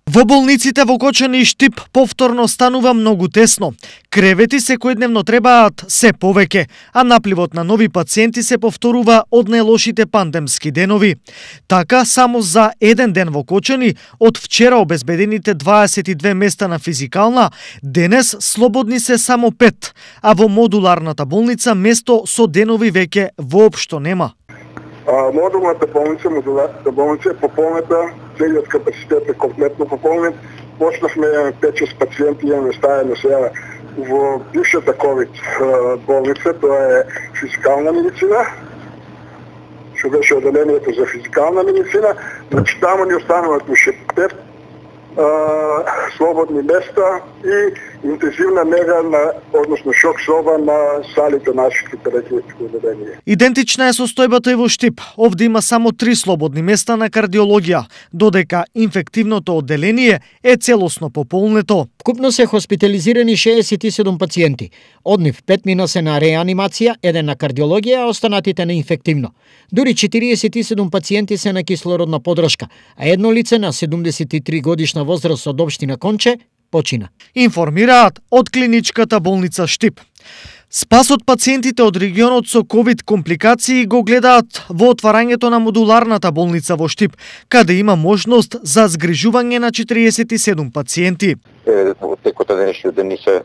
Во болниците во Кочани и Штип повторно станува многу тесно. Кревети секојдневно требаат се повеќе, а напливот на нови пациенти се повторува од најлошите пандемски денови. Така, само за еден ден во Кочани, од вчера обезбедените 22 места на физикална, денес слободни се само 5, а во модуларната болница место со денови веќе воопшто нема. Модулната болница, модуларната болница е пополнета, целиот капацитет е комплетно пополнет. Почнахме 5-6 пациенти, имаме стајано сега во бившата ковид болница, тоа е физикална медицина, што беше одделението за физикална медицина, значи таму ни остануваат уште 5 слободни места и интензивна нега односно шок соба на салите нашите терапевтички одделенија. Идентична е состојбата и во Штип. Овде има само 3 слободни места на кардиологија, додека инфективното одделение е целосно пополнето. Вкупно се хоспитализирани 67 пациенти. Од нив 5 мина се на реанимација, 1 на кардиологија, а останатите на инфективно. Дури 47 пациенти се на кислородна подршка, а едно лице на 73 годишна возраст од општина Конче почина. Информираат од клиничката болница Штип. Спас од пациентите од регионот со ковид компликации го гледаат во отварањето на модуларната болница во Штип, каде има можност за згрижување на 47 пациенти. Во текот на денешниот ден се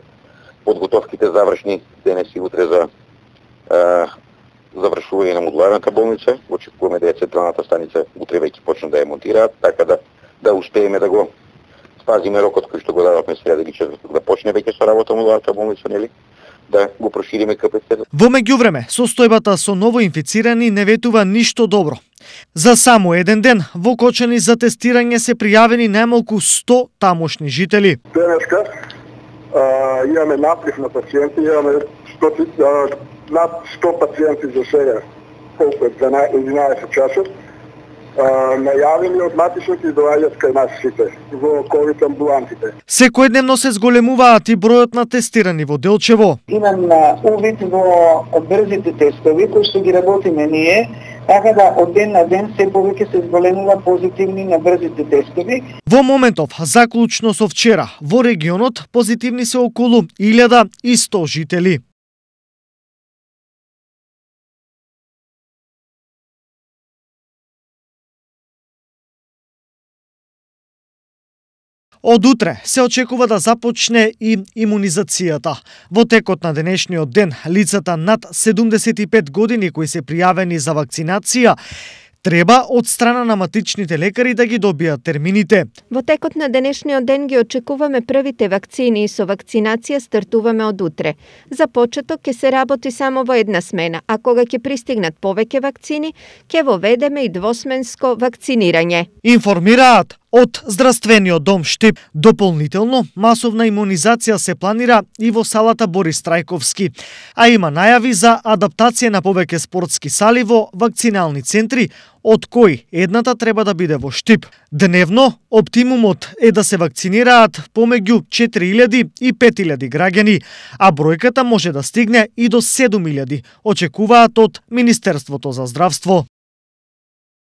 подготовките завршни, денес и утре за завршување на модуларната болница. Очекуваме да централната станица утре веќе почнат да ја монтираат, така да успееме да го спазиме рокот кој што го дадовме сега да почне веќе со работа модуларната болница, нели? Да го прошириме капацитетот. Во меѓувреме, состојбата со ново инфицирани не ветува ништо добро. За само еден ден во Кочани за тестирање се пријавени најмалку 100 тамошни жители. Денеска имаме наплив на пациенти, имаме над 100 пациенти за сега, колку е 11 часот. Најавени од матичните и доаѓаат кај нас сите во ковид амбулантите. Секојдневно се зголемуваат и бројот на тестирани во Делчево. Имам увид во брзите тестови кои што ги работиме ние, така да од ден на ден се повеќе се зголемува позитивни на брзите тестови. Во моментов, заклучно со вчера, во регионот позитивни се околу 1100 жители. Од утре се очекува да започне и имунизацијата. Во текот на денешниот ден, лицата над 75 години кои се пријавени за вакцинација треба од страна на матичните лекари да ги добијат термините. Во текот на денешниот ден ги очекуваме првите вакцини и со вакцинација стартуваме од утре. За почеток ќе се работи само во една смена, а кога ќе пристигнат повеќе вакцини, ќе воведеме и двосменско вакцинирање. Информираат од Здравствениот дом Штип. Дополнително, масовна имунизација се планира и во салата Борис Трајковски, а има најави за адаптација на повеќе спортски сали во вакцинални центри, од кои едната треба да биде во Штип. Дневно, оптимумот е да се вакцинираат помеѓу 4000 и 5000 граѓани, а бројката може да стигне и до 7000, очекуваат од Министерството за здравство.